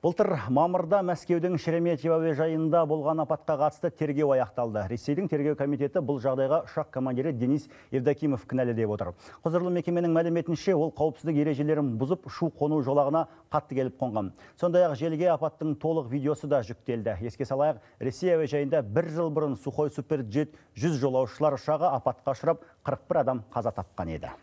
Былтыр мамырда Мәскеудің Шереметьево әуежайында болған апатқа қатысты тергеу аяқталды. Ресейдің тергеу комитеті бұл жағдайға ұшақ командирі Денис Евдокимов кінәлі деп отыр. Құзырлы мекеменің мәліметінше, ол қауіпсіздік ережелерін бұзып, ұшу-қону жолағына қатты келіп қонған. Сондай-ақ желіге апаттың толық видеосы да жүктелді. Еске салайық, Ресей әуежайында 1 жыл бұрын Сухой суперджет 100 жолаушылар ұшағы апатқа ұшырап, 41 адам қаза тапқан еді.